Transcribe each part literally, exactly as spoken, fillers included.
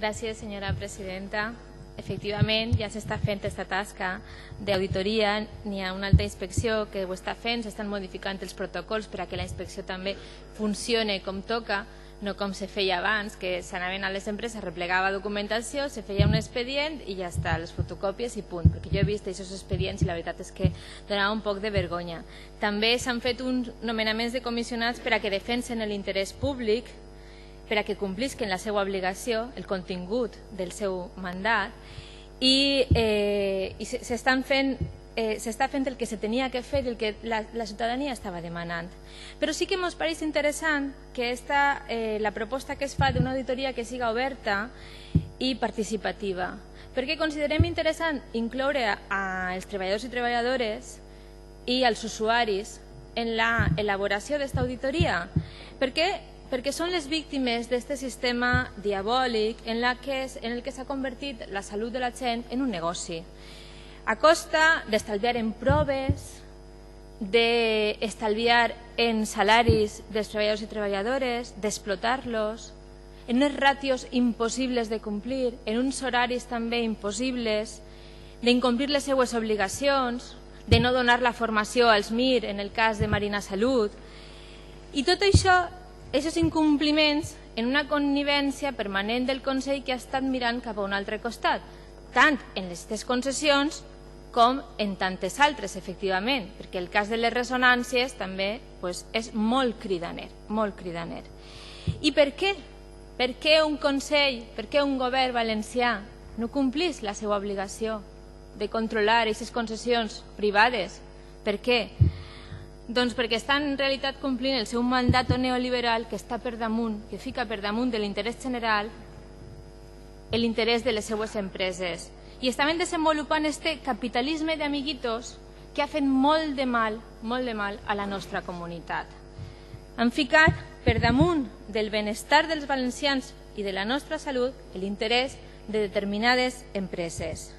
Gràcies, senyora presidenta. Efectivament, ja s'està fent aquesta tasca d'auditoria, n'hi ha una altra inspecció que ho està fent, s'estan modificant els protocols per a que la inspecció també funcione com toca, no com se feia abans, que s'anaven a les empreses, replegava documentació, se feia un expedient i ja està, les fotocòpies i punt, perquè jo he vist aquests expedients i la veritat és que donava un poc de vergonya. També s'han fet uns nomenaments de comissionats per a que defensen l'interès públic, per a que complisquen la seva obligació, el contingut del seu mandat, i, eh, i s'estan fent eh, s'està fent el que se tenia que fer i el que la, la ciutadania estava demanant. Però sí que ens pareix interessant que esta, eh, la proposta que es fa d'una auditoria que siga oberta i participativa, perquè considerem interessant incloure als treballadors i treballadores i als usuaris en la elaboració d'esta auditoria, perquè perquè són les víctimes d'aquest sistema diabòlic en, la que és, en el que s'ha convertit la salut de la gent en un negoci, a costa d'estalviar en proves, d'estalviar en salaris dels treballadors i treballadores, d'explotar-los, en unes ràtios impossibles de complir, en uns horaris també impossibles, d'incomplir les seues obligacions, de no donar la formació als M I R en el cas de Marina Salut, i tot això aquests incompliments en una connivència permanent del Consell que ha estat mirant cap a un altre costat, tant en aquestes concessions com en tantes altres, efectivament, perquè el cas de les ressonàncies també pues, és molt cridaner, molt cridaner. I per què? Per què un Consell, per què un govern valencià no complís la seva obligació de controlar aquestes concessions privades? Per què? Doncs perquè estan en realitat complint el seu mandat neoliberal que està per damunt, que fica per damunt de l'interès general l'interès de les seues empreses. I estaven desenvolupant este capitalisme d'amiguitos que ha fet molt de mal, molt de mal a la nostra comunitat. Han ficat per damunt del benestar dels valencians i de la nostra salut l'interès de determinades empreses.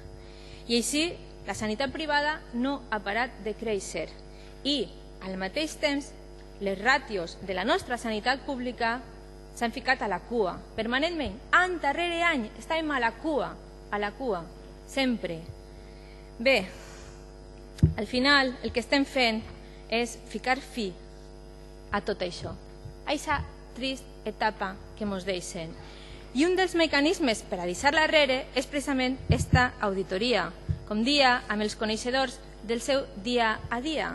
I així la sanitat privada no ha parat de créixer i al mateix temps, les ràtios de la nostra sanitat pública s'han ficat a la cua, permanentment, any darrere any, estàvem a la cua, a la cua, sempre. Bé, al final el que estem fent és ficar fi a tot això, a aquesta trista etapa que ens deixen. I un dels mecanismes per a deixar-la darrere és precisament aquesta auditoria, com dia, amb els coneixedors del seu dia a dia.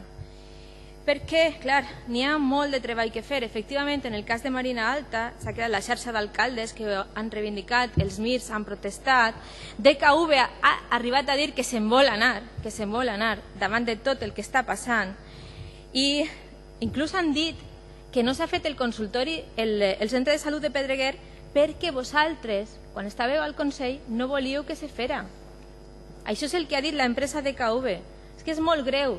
Perquè, clar, n'hi ha molt de treball que fer. Efectivament, en el cas de Marina Alta s'ha creat la xarxa d'alcaldes que han reivindicat, els M I Rs han protestat, D K V ha arribat a dir que se'n vol anar, que se'n vol anar davant de tot el que està passant i inclús han dit que no s'ha fet el consultori, el, el centre de salut de Pedreguer perquè vosaltres, quan estàveu al Consell, no volíeu que se fera. Això és el que ha dit l'empresa D K V. És que és molt greu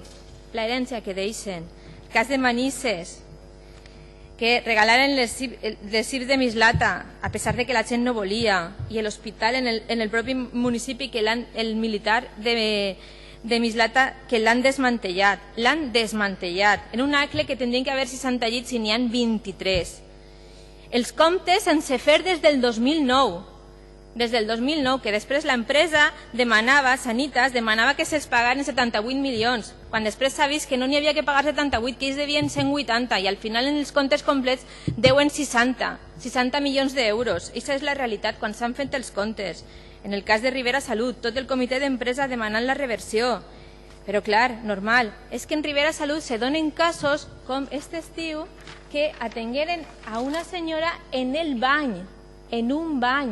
la herència que deixen. El cas de Manises, que regalaren les C I R de Mislata, a pesar de que la gent no volia, i l'hospital en, el, en el propi municipi, que el militar de, de Mislata, que l'han desmantellat. L'han desmantellat, en un acle que tindrien que haver seixanta llits i n'hi ha vint-i-tres. Els comptes sense fer des del dos mil nou, des del dos mil nou, que després l'empresa demanava, Sanitas, demanava que se'ls pagaren setanta-vuit milions, quan després s'ha vist que no n'hi havia que pagar setanta-vuit, que ells devien cent vuitanta, i al final en els comptes complets deuen seixanta, seixanta milions d'euros. Aquesta és la realitat quan s'han fet els comptes. En el cas de Rivera Salut, tot el comitè d'empresa demanant la reversió. Però clar, normal, és que en Rivera Salut se donen casos com aquest estiu que atengueren a una senyora en el bany, en un bany.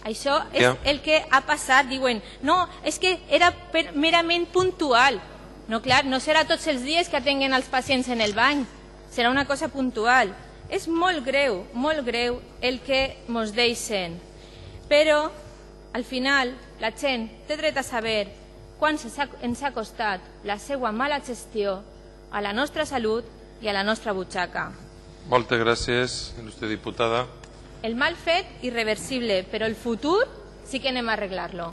Això és yeah. el que ha passat. Diuen, no, és que era per, merament puntual. No, clar, no serà tots els dies que atenguen els pacients en el bany. Serà una cosa puntual. És molt greu, molt greu el que ens deixen. Però, al final, la gent té dret a saber quan ens ha costat la seva mala gestió a la nostra salut i a la nostra butxaca. Moltes gràcies, il·lustre diputada. El mal fet, irreversible, però el futur sí que anem a arreglar-lo.